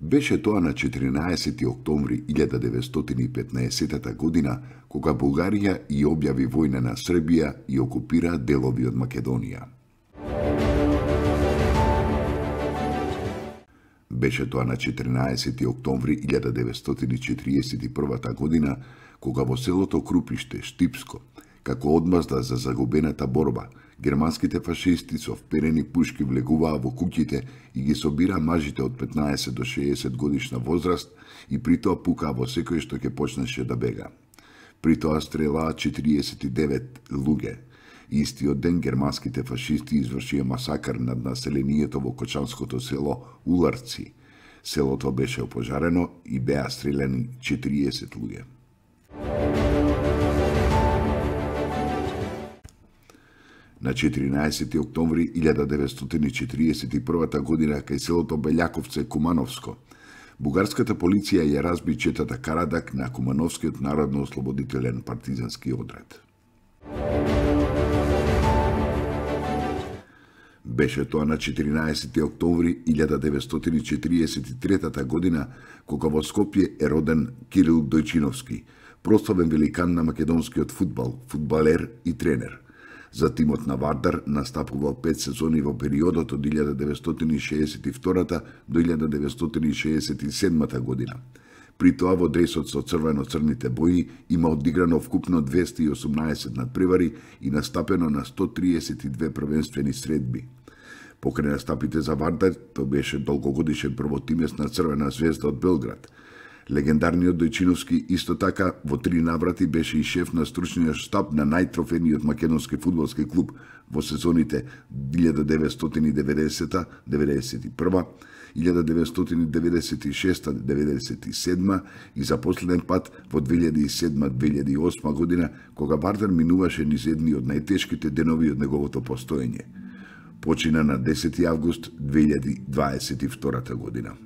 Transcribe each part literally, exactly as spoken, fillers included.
Беше тоа на четиринаесети октомври илјада деветстотини и петнаесетта година, кога Бугарија и објави војна на Србија и окупира делови од Македонија. Беше тоа на четиринаесети октомври илјада деветстотини и четириесет и прва година, кога во селото Крупиште, Штипско, како одмазда за загубената борба, германските фашисти со вперени пушки влегуваа во куќите и ги собираа мажите од петнаесет до шеесет годишна возраст и при тоа пукаа во секој што ќе почнеше да бега. При тоа стрелаа четириесет и девет луѓе. Истиот ден германските фашисти извршија масакар над населението во кочанското село Уларци. Селото беше опожарено и беа стреляни четириесет луѓе. На четиринаесети октомври илјада деветстотини и четириесет и прва година кај селото Белјаковце, Кумановско, бугарската полиција ја разби четата Карадак на Кумановскиот народно-ослободителен партизански одред. Беше тоа на четиринаесети октомври илјада деветстотини и четириесет и трета година, кога во Скопје е роден Кирил Дојчиновски, прославен великан на македонскиот фудбал, фудбалер и тренер. За тимот на Вардар настапувал пет сезони во периодот од илјада деветстотини и шеесет и втора до илјада деветстотини и шеесет и седма година. При тоа во дресот со црвено-црните бои има одиграно вкупно двесте и осумнаесет надпревари и настапено на сто триесет и две првенствени средби. Покрај настапите за Вардар, тој беше долгогодишен првотимец на Црвена звезда од Белград. Легендарниот Дојчиновски исто така во три наврати беше и шеф на стручниот штаб на најтрофениот македонски фудбалски клуб во сезоните илјада деветстотини и деветдесета до деветдесет и прва, илјада деветстотини и деветдесет и шеста до деветдесет и седма и за последен пат во две илјади и седма до две илјади и осма година, кога Вардар минуваше низ едни од најтешките денови од неговото постоење. Почина на десети август две илјади дваесет и втора година.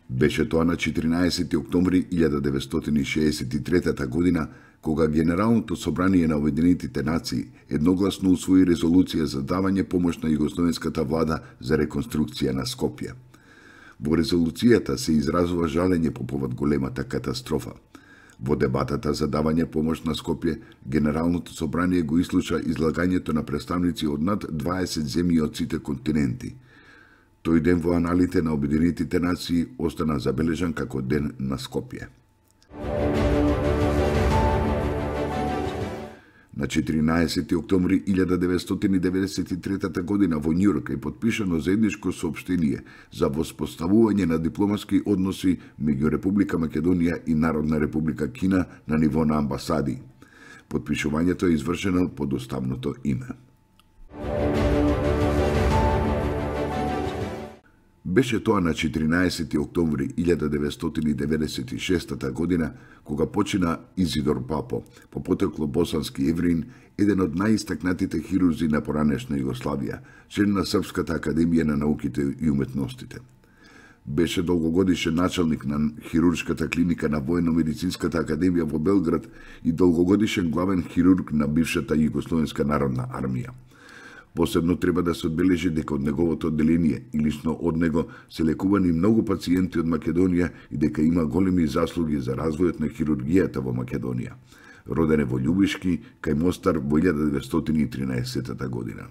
Беше тоа на четиринаесети октомври илјада деветстотини и шеесет и трета година, кога Генералното собрание на Обединетите нации едногласно усвои резолуција за давање помош на југословенската влада за реконструкција на Скопје. Во резолуцијата се изразува жалење по повод големата катастрофа. Во дебатата за давање помош на Скопје, Генералното собрание го ислуша излагањето на представници од над дваесет земји од сите континенти. Тој ден во аналите на Обединетите нации остана забележан како ден на Скопје. На четиринаесети октомври илјада деветстотини и деветдесет и трета година во Њујорк е потпишано заедничко соопштение за воспоставување на дипломатски односи меѓу Република Македонија и Народна република Кина на ниво на амбасади. Потпишувањето е извршено под уставното име. Беше тоа на четиринаесети октомври илјада деветстотини и деветдесет и шеста година, кога почина Изидор Папо, по потекло босански евреин, еден од најистакнатите хирурзи на поранешна Југославија, член на Српската академија на науките и уметностите. Беше долгогодишен началник на хируршката клиника на Воено-медицинската академија во Белград и долгогодишен главен хирург на бившата Југословенска народна армија. Посебно треба да се одбележи дека од неговото одделение и лично од него се лекувани многу пациенти од Македонија и дека има големи заслуги за развојот на хирургијата во Македонија. Роден е во Љубишки, кај Мостар во илјада деветстотини и тринаесетта година.